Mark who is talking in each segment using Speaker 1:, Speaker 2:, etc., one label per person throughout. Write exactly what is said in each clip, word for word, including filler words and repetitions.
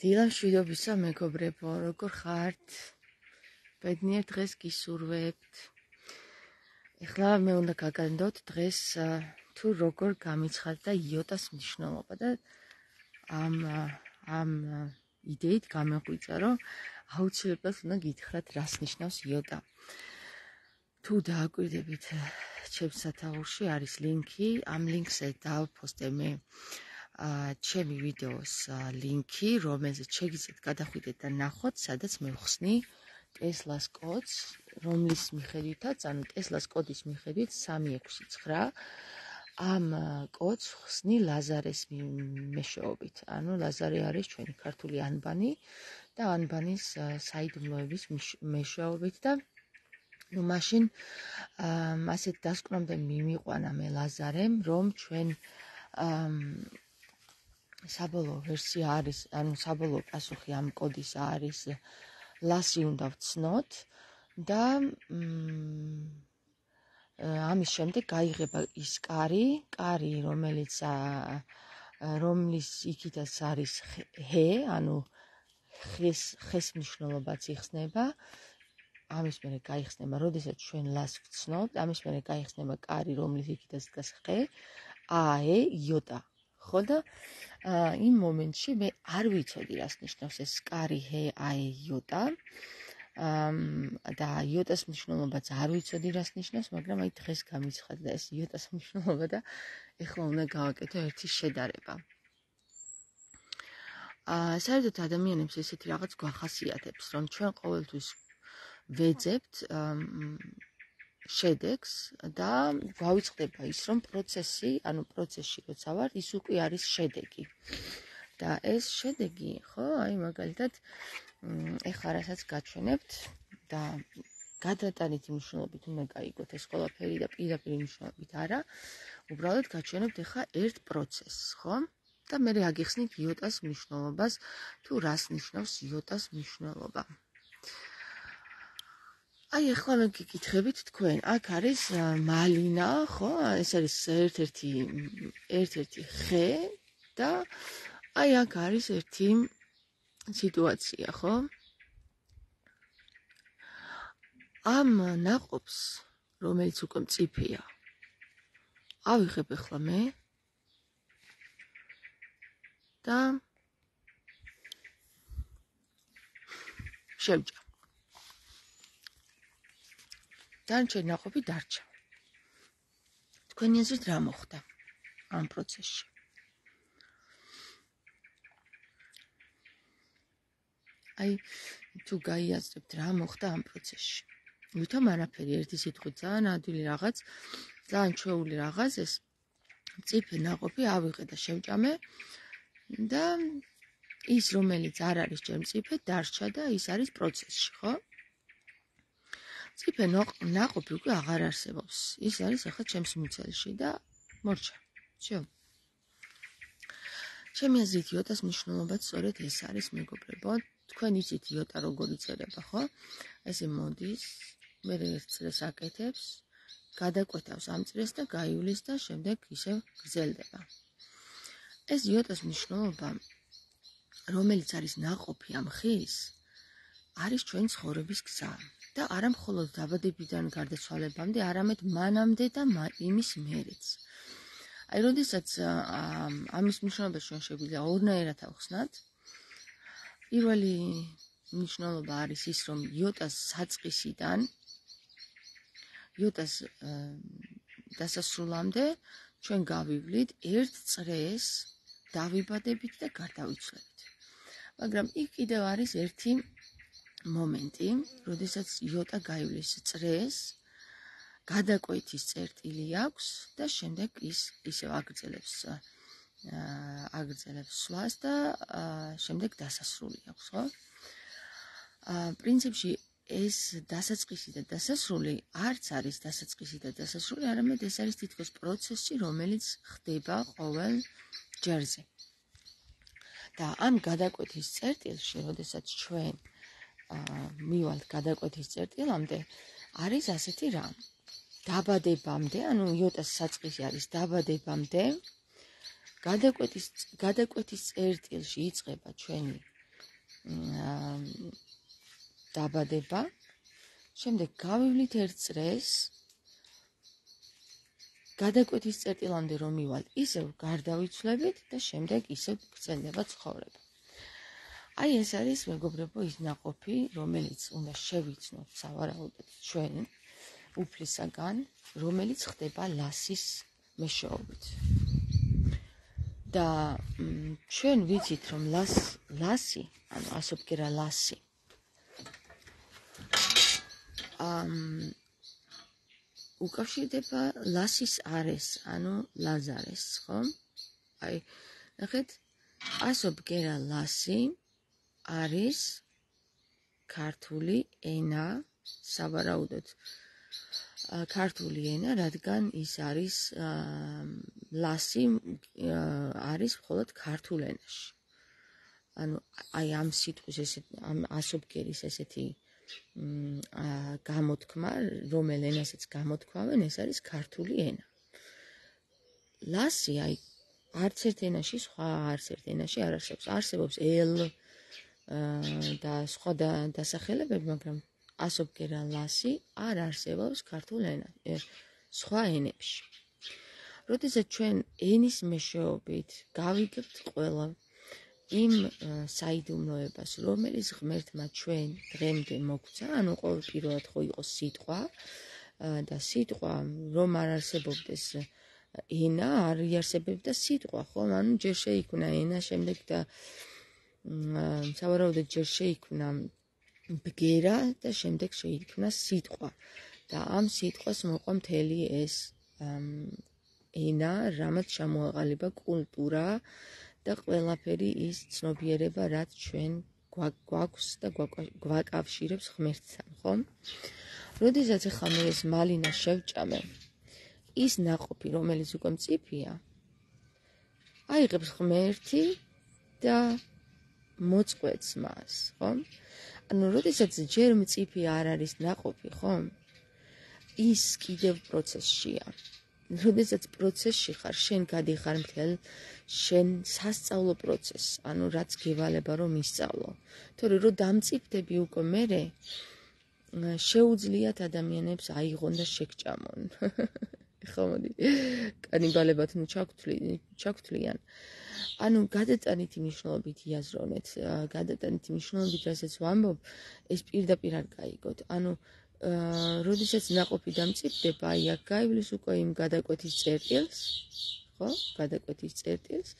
Speaker 1: დილამშვიდობისა მეგობრებო, როგორ ხართ? ბედნიერ დღეს გისურვებთ. ეხლა მე უნდა გაგანდოთ დღეს თუ როგორ გამიცხადდა იოტას მნიშვნელობა და ამ ამ იდეით გამეღვიძა, რომ აუცილებლად უნდა გითხრათ, რას ნიშნავს იოტა. თუ დააკვირდებით ჩემს სათაურში არის ლინკი, ამ ლინკზე დავფოსტე მე ჩემი ვიდეოს ლინკი, რომელზეც შეგიძლიათ გადახვიდეთ და ნახოთ, სადაც მე ვხსნი ტესლას კოდს, რომლის მიხედვითაც, ანუ ტესლას კოდის მიხედვით სამი ექვსი ცხრა ამ კოდს ვხსნი ლაზარეს მეშვეობით. ანუ ლაზარე არის ჩვენი ქართული ანბანი და ანბანის საიდუმლოების მეშვეობით და ну მაშინ ასეთ დასკვნამდე მიმიყვანა მე ლაზარემ, რომ ჩვენ საბოლოო ვერსია არის, ანუ საბოლოო პასუხი ამ კოდის არის ლასი უნდა ვცნოთ და ამის შემდეგ გაიღება ის კარი, კარი, რომელიც რომლის იქითაც არის ჰე, ანუ ხეს ხეს მნიშვნელობაც იხსნება. ამის მერე გაიხსნება, როდესაც ჩვენ ლას ვცნობთ, ამის მერე გაიხსნება კარი, რომლის იქითაც დგას ხე, აე, იოტა. ხო და იმ მომენტში მე არ ვიცოდი, რას ნიშნავს ეს კარი, ჰე, აე, იოტა. და იოტას მნიშვნელობაც არ ვიცოდი, რას ნიშნავს, მაგრამ აი დღეს გამიცხადდა ეს იოტას მნიშვნელობა და ეხლა უნდა გავაკეთო ერთი შედარება. საერთოდ ადამიანებს ესეთი რაღაც გვახასიათებს, რომ ჩვენ ყოველთვის ვეძებთ შედეგს და გვავიწყდება ის, რომ პროცესი, ანუ პროცესში როცა ვარ, ის უკვე არის შედეგი. და ეს შედეგი, ხო, აი მაგალითად, ეხლა რასაც გაჩვენებთ და გადატანითი მნიშვნელობით უნდა გაიგოთ ეს ყველაფერი და პირდაპირ მნიშვნელობით არა, უბრალოდ გაჩვენებთ ეხლა ერთ პროცესს, ხო? და მე აგიხსნით იოტას მნიშვნელობას, თუ რას ნიშნავს იოტას მნიშვნელობა. აი ეხლა მე გიკითხებით თქვენ, აქ არის მალინა, ხო? ეს არის ერთ-ერთი ერთ-ერთი ხე და აი აქ არის ერთი სიტუაცია, ხო? ამ ნაყოფს, რომელიც უკვე მწიფეა, ავიღებ ეხლა მე და შევჭამ. დანარჩენი ნაყოფი დარჩა. თქვენი აზრით რა მოხდა ამ პროცესში? აი თუ გაიაზრებთ რა მოხდა ამ პროცესში. ვითომ არაფერი, ერთი სიტყვით ძალიან ადვილი რაღაც, ძალიან ჩვეული რაღაც, ეს მწიფე ნაყოფი ავიღე და შევჭამე და ის რომელიც არ არის ჯერ მწიფე დარჩა და ის არის პროცესში, ხო? მწიფე ნაყოფი უკვე აღარ არსებობს. ის არის ახლა ჩემს მუცელში და მორჩა. всё. ჩემი აზრით იოტას მნიშვნელობაც სწორედ ეს არის, მეგობრებო. თქვენ იცით იოტა როგორ იწერება, ხო? ესე მოდის, მე ერთ წრეს აკეთებს, გადაკვეთავს ამ წრეს და გაივლის და შემდეგ ისევ გრძელდება. ეს იოტას მნიშვნელობა, რომელიც არის ნაყოფი ამ ხის, არის ჩვენი ცხოვრების გზა და არა მხოლოდ დაბადებიდან გარდაცვალებამდე, არამედ მანამდე და იმის მერეც. აი, როდესაც ამის მნიშვნელობას ჩვენ შეგვიძლია ორნაირად ავხსნათ, პირველი მნიშვნელობა არის ის, რომ იოტას საწყისიდან იოტას დასასრულამდე ჩვენ გავივლით ერთ წრეს დავიბადებით და გარდავიცვლებით. მაგრამ იქ კიდევ არის ერთი მომენტი, როდესაც იოტა გაივლის წრეს, გადაკვეთის წერტილი აქვს და შემდეგ ის ისევ აგრძელებს აგრძელებს სვლას და შემდეგ დასასრული აქვს, ხო? პრინციპში ეს დასაწყისი და დასასრული არც არის დასაწყისი და დასასრული, არამედ ეს არის თითქოს პროცესი, რომელიც ხდება ყოველ ჯერზე. და ამ გადაკვეთის წერტილში, როდესაც ჩვენ მივალთ გადაკვეთის წერტილამდე, არის ასეთი რამ. დაბადებამდე, ანუ იოტას საწყისი არის დაბადებამდე, გადაკვეთის გადაკვეთის წერტილში იწყება ჩვენი დაბადება, შემდეგ გავივლით ერთ წრეს, გადაკვეთის წერტილამდე რომ მივალ, ისევ გარდავიცვლებით და შემდეგ ისევ გრძელდება ცხოვრება. აი ეს არის მეგობრებო ის ნაყოფი, რომელიც უნდა შევიცნოთ სავარაუდოდ ჩვენ უფლისაგან, რომელიც ხდება ლასის მეშვეობით. და ჩვენ ვიცით რომ ლას ლასი, ანუ ასობგერა ლასი ამ უკავშირდება ლასის არეს, ანუ ლაზარეს, ხო? აი, ნახეთ, ასობგერა ლასი არის ქართული ენა, სავარაუდოდ ქართული ენა, რადგან ის არის ლასი არის მხოლოდ ქართულ ენაში. ანუ აი ამ სიტყვის ესეთ ამ ასობგერის ესეთი გამოთქმა, რომელ ენასაც გამოთქვამენ, ეს არის ქართული ენა. ლასი აი არც ერთ ენაში, სხვა არც ერთ ენაში არ არსებობს. არსებობს ელ და სხვა დასახელებები, მაგრამ ასობგერა ლასი არ არსებობს ქართულ ენაში, სხვა ენებში. როდესაც ჩვენ ენის მეშვეობით გავიგებთ ყველა იმ საიდუმლოებას, რომელიც ღმერთმა ჩვენ დღემდე მოგცა, ანუ ყოველპირველად ხო იყო სიტყვა და სიტყვა რომ არ არსებობდეს ენა, არ იარსებებდა სიტყვა, ხო? ანუ ჯერ შეიქმნა ენა, შემდეგ და სავარაუდოდ ჯერ შეიქმნა ბგერა და შემდეგ შეიქმნა სიტყვა. და ამ სიტყვას მოყვა მთელი ეს ენა, რამაც ჩამოაყალიბა კულტურა და ყველაფერი ის ცნობიერება, რაც ჩვენ გვაქვს და გვაკავშირებს ღმერთთან, ხო? როდესაც ახლა მე ეს მალინა შევჭამე, ის ნაყოფი, რომელიც უკვე მწიფია, აიღებს ღმერთი და მოწყვეტს მას, ხო? ანუ როდესაც ჯერ მწიფი არ არის ნაყოფი, ხო? ის კიდევ პროცესშია. როდესაც პროცესში ხარ, შენ გადიხარ მთელ შენ სასწავლო პროცესს, ანუ რაც გევალება რომ ისწავლო. თორე რომ დამწიფდები უკვე მერე, შეუძლიათ ადამიანებს აიღონ და შეგჭამონ. ხო მოდი, კანიბალებად ნუ ჩაგთვლიან. ანუ გადატანითი მნიშვნელობით იაზრონეთ, გადატანითი მნიშვნელობით რასაც ვამბობ, ეს პირდაპირ არ გაიგოთ. ანუ როდესაც ნაყოფი დამწიფდება, აი აქ გაივლის უკვე იმ გადაკვეთის წერტილს, ხო? გადაკვეთის წერტილს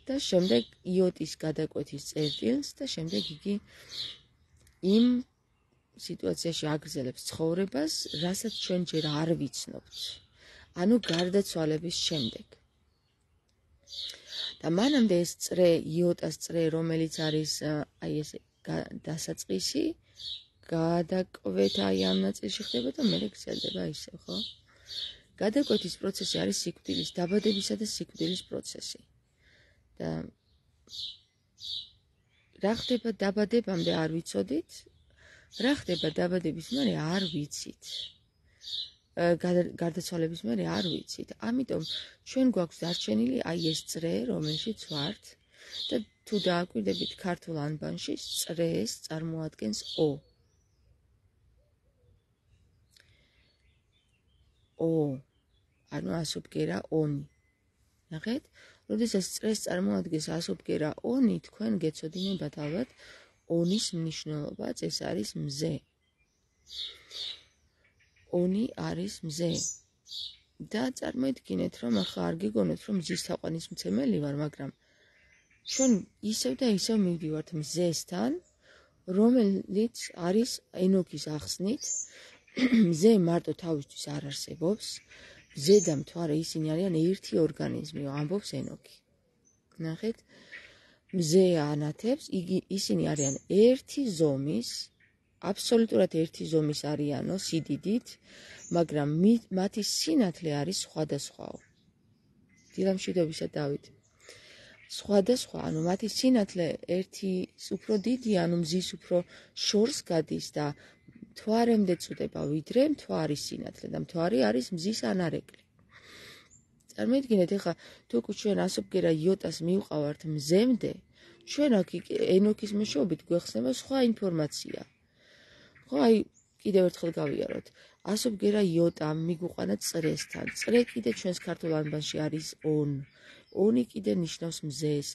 Speaker 1: და შემდეგ იოტის გადაკვეთის წერტილს და შემდეგ იგი იმ სიტუაციაში აგრძელებს ცხოვრებას, რასაც ჩვენ ჯერ არ ვიცნობთ. ანუ გარდაცვალების შემდეგ. და მანამდე ეს წრე, იოტას წრე, რომელიც არის აი ეს დასაწყისი, გადაკვეთა აი ამ ნაწილში ხდება და მერე გრძელდება ისევ, ხო? გადაკვეთის პროცესი არის სიკვდილის, დაბადებისა და სიკვდილის პროცესი. და რა ხდება დაბადებამდე არ ვიცოდით, რა ხდება დაბადების მერე არ ვიცით. გარდაცვალების მერე არ ვიცით. ამიტომ ჩვენ გვაქვს დარჩენილი აი ეს წრე, რომელშიც ვართ და თუ დააკვირდებით ქართულ ანბანში, წრეს წარმოადგენს ო. ო, ანუ ასობგერა ონი. ნახეთ, როდესაც წრეს წარმოადგენს ასობგერა ონი, თქვენ გეცოდინებათ ალბათ ონის მნიშვნელობაც, ეს არის მზე. ონი არის მზე. და წარმოიდგინეთ, რომ ახლა არ გიგონოთ, რომ მზის თაყვანისმცემელი ვარ, მაგრამ ჩვენ ისევ და ისევ მივდივართ მზესთან, რომელიც არის ენოქის ახსნით, მზე მარტო თავისთვის არ არსებობს, მზე და მთვარე ისინი არიან ერთი ორგანიზმი, ამბობს ენოქი. ნახეთ, მზე ანათებს, ისინი არიან ერთი ზომის, აბსოლუტურად ერთი ზომის არიანო სიდიდით, მაგრამ მათი სინათლე არის სხვადასხვაო. დილამშვიდობისა დავით. სხვადასხვა, ანუ მათი სინათლე ერთი უფრო დიდი, ანუ მზის უფრო შორს გადის და მთვარემდე წუდება, ვიდრე მთვარის სინათლე და მთვარი არის მზის ანარეკლი. წარმოიდგინეთ, ეხლა თუ ჩვენ ასობგერა იოტას მივყავართ მზემდე, ჩვენ აქ ენოქის მეშვეობით გვეხსნება სხვა ინფორმაცია. ხო, აი კიდევ ერთხელ გავიაროთ. ასობგერა იოტა მიგვიყვანა წრესთან. წრე კიდე ჩვენს ქართულ ანბანში არის on. ონი კიდე ნიშნავს მზეს.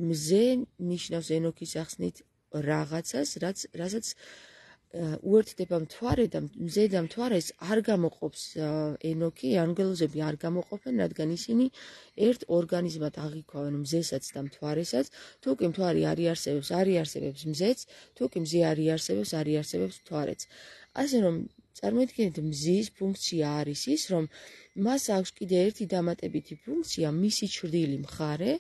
Speaker 1: მზე ნიშნავს ენოქის ახსნით რაღაცას, რაც რასაც უერთდება მთვარე და მზე და მთვარეს არ გამოყოფს ენოქი, ანგელოზები არ გამოყოფენ, რადგან ისინი ერთ ორგანიზმად აღიქვამენ მზესაც და მთვარესაც. თუ კი მთვარი არ იარსებებს, არ იარსებებს მზეც, თუ კი მზე არ იარსებებს, არ იარსებებს მთვარეც. ასე რომ წარმოიდგინეთ, მზის ფუნქცია არის ის, რომ მას აქვს კიდე ერთი დამატებითი ფუნქცია, მისი ჩრდილი მხარე,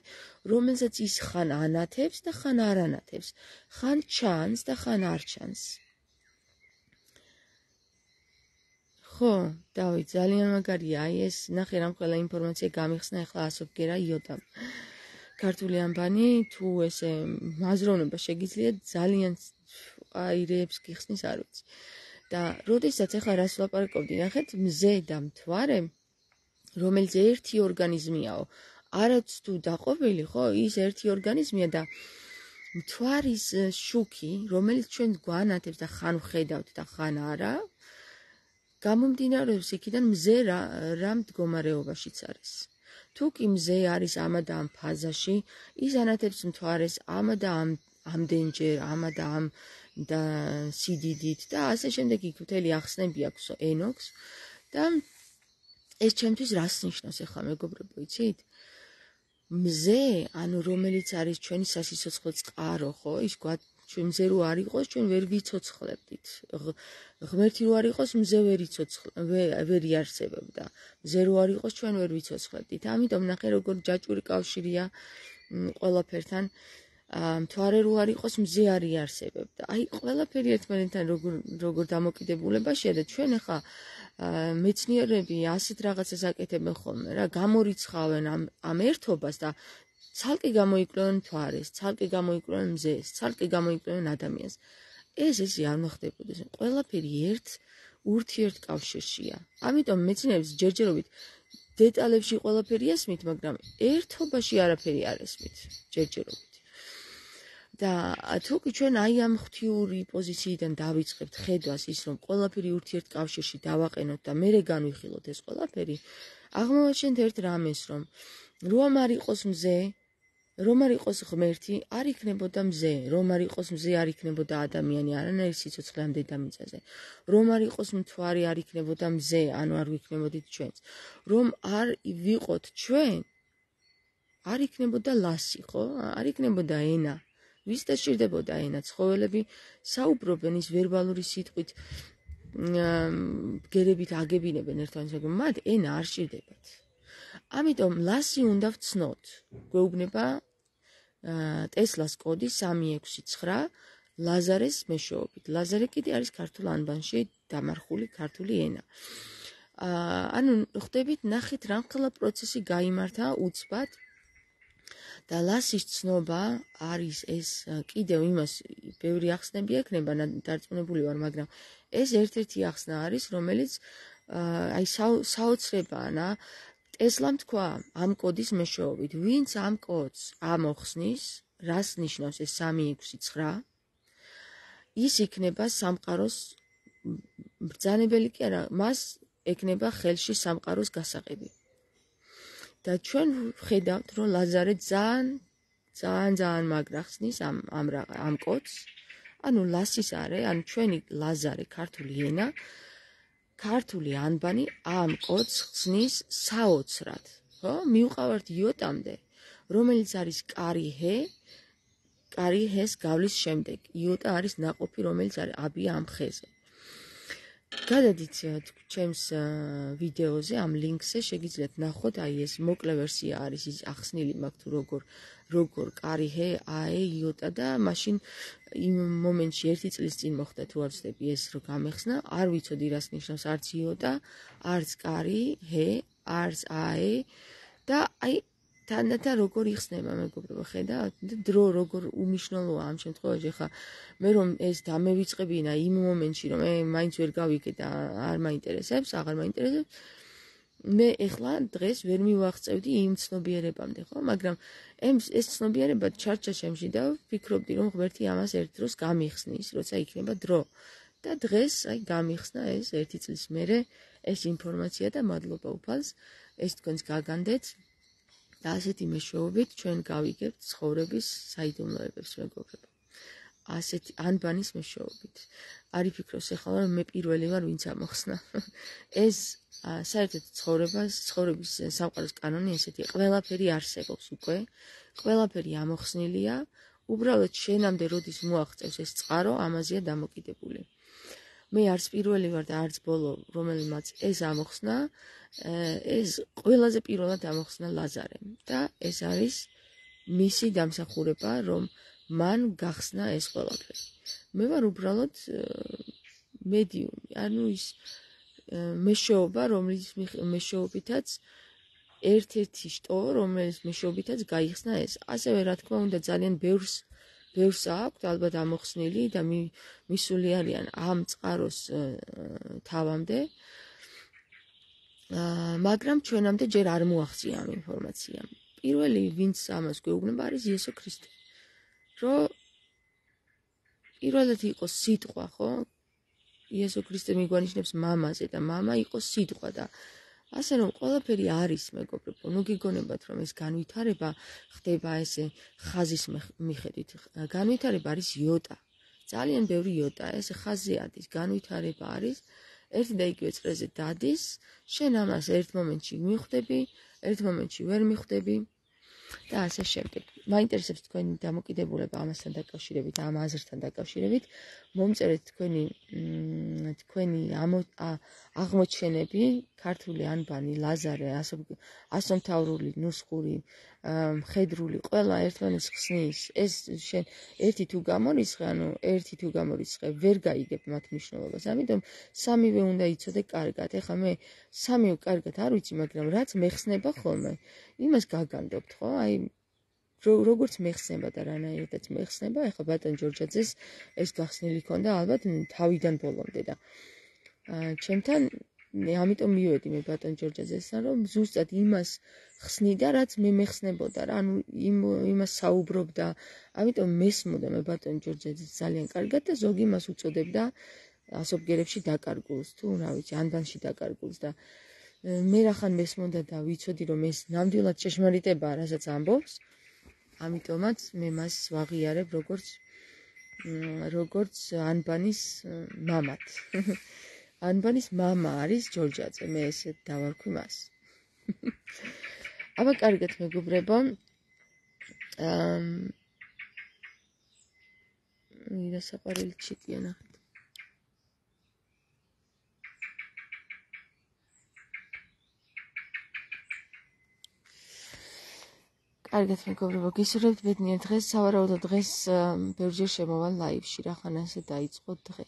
Speaker 1: რომელსაც ის ხან ანათებს და ხან არ ანათებს, ხან ჩანს და ხან არ ჩანს. ხო, დავით, ძალიან მაგარია, აი ეს ნახე რამ ყველა ინფორმაცია გამიხსნა ახლა ასობგერა იოტამ. ქართული ანბანი თუ ესე აზროვნება შეგიძლიათ ძალიან აირეებს გიხსნის არ ვიცი. და როდესაც ახლა რას ვლაპარაკობდი, ნახეთ, მზე და მთვარე, რომელიც ერთი ორგანიზმიაო, არაც თუ დაყოფილი, ხო, ის ერთი ორგანიზმია და მთვარის შუქი, რომელიც ჩვენ გვანათებს და ხან ვხედავთ და ხან არა, გამომდინარეობს იქიდან მზე რა, რა მდგომარეობაშიც არის. თუ კი მზე არის ამა და ამ ფაზაში, ის ანათებს მთვარეს ამა და ამ ამდენჯერ, ამა და ამ და სიდიდით და ასე შემდეგ იქ მთელი ახსნები აქვს ენოქს და ეს ჩემთვის რას ნიშნავს ახლა მეგობრებო, იცით? მზე, ანუ რომელიც არის ჩვენი სასიცოცხლო წყარო, ხო? ის გვად ჩვენ მზე რო არ იყოს, ჩვენ ვერ ვიცოცხლებდით. ღმერთი რო არ იყოს, მზე ვერ იცოცხლ ვერ იარსებებდა. მზე რო არ იყოს, ჩვენ ვერ ვიცოცხლებდით. ამიტომ ნახე როგორ ჯაჭვური კავშირია ყველაფერთან. მთვარე რო არ იყოს, მზე არ იარსებებდა. აი ყველაფერი ერთმანეთთან როგორ როგორ დამოკიდებულებაშია და ჩვენ ახლა მეცნიერები ასეთ რაღაცას აკეთებენ ხოლმე რა, გამორიცხავენ ამ ამ ერთობას და ცალკე გამოიკვლევენ მთვარეს, ცალკე გამოიკვლევენ მზეს, ცალკე გამოიკვლევენ ადამიანს. ეს ესე არ მოხდებოდეს. ყველაფერი ერთ ურთიერთკავშირშია. ამიტომ მეცნიერებს ჯერჯერობით დეტალებში ყველაფერი ესმით, მაგრამ ერთობაში არაფერი არ ესმით ჯერჯერობით. და თუ კი ჩვენ აი ამ ღვთიური პოზიციიდან დავიწყებთ ხედვას ის, რომ ყველაფერი ურთიერთკავშირში დავაყენოთ და მერე განვიხილოთ ეს ყველაფერი, აღმოვაჩენთ ერთ რამეს, რომ რომ არ იყოს მზე, რომ არ იყოს ღმერთი, არ იქნებოდა მზე, რომ არ იყოს მზე, არ იქნებოდა ადამიანი, არანაირი სიცოცხლე ამ დედამიწაზე. რომ არ იყოს მთვარი, არ იქნებოდა მზე, ანუ არ ვიქნებოდით ჩვენც. რომ არ ვიყოთ ჩვენ, არ იქნებოდა ლასი, ხო? არ იქნებოდა ენა. ვის დასჭირდებოდა ენა? ცხოველები საუბრობენ ის ვერბალური სიტყვით, ბგერებით აგებინებენ ერთმანეთს, მათ ენა არ სჭირდებათ. ამიტომ ლასი უნდა ვცნოთ. გვეუბნება ტესლას კოდი სამი ექვსი ცხრა ლაზარეს მეშვეობით. ლაზარე კიდე არის ქართულ ანბანში დამარხული ქართული ენა. ანუ ხვდებით, ნახეთ რამხელა პროცესი გაიმართა უცბად და ლასის ცნობა არის ეს კიდევ იმას ბევრი ახსნები ექნება, დარწმუნებული ვარ, მაგრამ ეს ერთ-ერთი ახსნა არის, რომელიც აი საოცრებაა. ტესლამ თქვა ამ კოდის მეშვეობით, ვინც ამ კოდს ამოხსნის, რას ნიშნავს ეს სამი ექვსი ცხრა, ის იქნება სამყაროს ბრძანებელი კი არა, მას ეკნება ხელში სამყაროს გასაყები. და ჩვენ ვხედავთ, რომ ლაზარე ძალიან ძალიან ძალიან მაგრა ხსნის ამ ამ ამ კოდს, ანუ ლასის არე, ანუ ჩვენი ლაზარე ქართული ენა, ქართული ანბანი ამ კოდს ხსნის საოცრად, ხო? მივყავართ იოტამდე, რომელიც არის კარი ჰე, კარი ჰეს გავლის შემდეგ. იოტა არის ნაყოფი, რომელიც არის აბია ამ ხეზე. გადადით ჩემს ვიდეოზე, ამ ლინკზე შეგიძლიათ ნახოთ, აი ეს მოკლე ვერსია არის, ის ახსნილი მაქვს თუ როგორ როგორ კარი ჰე, აე, იოტა და მაშინ იმ მომენტში ერთი წლის წინ მოხდა თუ არ ვცდები ეს რო გამეხსნა, არ ვიცოდი რას ნიშნავს არც იოტა, არც კარი ჰე, არც აე და აი თანდათან როგორ იხსნება მეგობრებო, ხედავთ? დრო როგორ უმნიშვნელოა ამ შემთხვევაში. ხა მე რომ ეს დამევიწყებინა იმ მომენტში, რომ მე მაინც ვერ გავიგე და არ მაინტერესებს, აღარ მაინტერესებს, მე ეხლა დღეს ვერ მივაღწევდი იმ ცნობიერებამდე, ხო? მაგრამ ეს ცნობიერება ჩარჩა ჩემში და ვფიქრობდი, რომ ღმერთი ამას ერთ დროს გამიხსნის, როცა იქნება დრო. და დღეს აი გამიხსნა ეს ერთი წლის მერე ეს ინფორმაცია და მადლობა უფალს, ეს თქვენს გაგანდეთ და ასეთი მეშვეობით ჩვენ გავიგებთ ცხოვრების საიდუმლოებებს, მეგობრებო. ასეთი ანბანის მეშვეობით. არ იფიქროს ეხლა რომ მე პირველი ვარ, ვინც ამოხსნა. ეს საერთოდ ცხოვრებას, ცხოვრების სამყაროს კანონი ესეთი, ყველაფერი არსებობს უკვე, ყველაფერი ამოხსნილია, უბრალოდ შენამდე როდის მოაღწევს ეს წყარო, ამაზეა დამოკიდებული. მე არც პირველი ვარ და არც ბოლო, რომელმაც ეს ამოხსნა, ეს ყველაზე პირველად ამოხსნა ლაზარემ და ეს არის მისი დამსახურება, რომ მან გახსნა ეს ყველაფერი. მე ვარ უბრალოდ მედიუმი, ანუ ის მეშვეობა, რომლის მეშვეობითაც ერთ-ერთი შტო, რომელიც მეშვეობითაც გაიხსნა ეს. ასევე რა თქმა უნდა ძალიან ბევრს ბევრს აქვთ ალბათ ამოხსნილი და მისული არიან ამ წყაროს თავამდე. მაგრამ ჩვენამდე ჯერ არ მოაღწია ამ ინფორმაციამ. პირველი ვინც ამას გვეუბნება არის იესო ქრისტე. რომ პირველად იყო სიტყვა, ხო? იესო ქრისტე მიგვანიშნებს მამაზე და მამა იყო სიტყვა და ასე რომ ყველაფერი არის, მეგობრებო. ნუ გიგონებათ რომ ეს განვითარება ხდება ესე ხაზის მიხედვით. განვითარება არის იოტა. ძალიან ბევრი იოტა, ესე ხაზზე ადის, განვითარება არის. ერთი და იგივე წრეზე დადის, შენ ამას ერთ მომენტში მიხვდები, ერთ მომენტში ვერ მიხვდები და ასე შემდეგ. მაინტერესებს თქვენი დამოკიდებულება ამასთან დაკავშირებით, ამ აზრთან დაკავშირებით. მომწერეთ თქვენი თქვენი აღმოჩენები, ქართული ანბანი, ლაზარე, ასომთავრული, ნუსხური, მხედრული, ყველა ერთმანეთს ხსნის. ეს შენ ერთი თუ გამორიცხე, ანუ ერთი თუ გამორიცხე, ვერ გაიგებ მათ მნიშვნელობას. ამიტომ სამივე უნდა იცოდე კარგად. ეხლა მე სამივე კარგად არ ვიცი, მაგრამ რაც მეხსნება ხოლმე, იმას გაგანდობთ, ხო? აი როგორც მეხსნება და რანაირადაც მეხსნება, ეხლა ბატონ ჯორჯაძეს ეს გახსნილი ქონდა ალბათ თავიდან ბოლომდე და ჩემთან ამიტომ მივედი მე ბატონ ჯორჯაძესთან, რომ ზუსტად იმას ხსნიდა, რაც მე მეხსნებოდა რა, ანუ იმას საუბრობდა, ამიტომ მესმოდა მე ბატონ ჯორჯაძეს ძალიან კარგად და ზოგი მას უწოდებდა ასობგერებში დაკარგულს, თუ რა ვიცი, ანბანში დაკარგულს და მე რახან მესმოდა და ვიცოდი, რომ ეს ნამდვილად ჭეშმარიტებაა, რასაც ამბობს. ამიტომაც მე მას ვაღიარებ როგორც როგორც ანბანის მამად. ანბანის მამა არის ჯორჯაძე, მე ესე დავარქვი მას. აბა კარგად მეგობრებო. აა მინდა საყვარელი ჩიტია ნახეთ. კარგად მეგობრებო, გისურვებთ ბედნიერ დღეს, სავარაუდოდ დღეს ბევრჯერ შემოვალ ლაივში, რახან ასე დაიწყო დღე.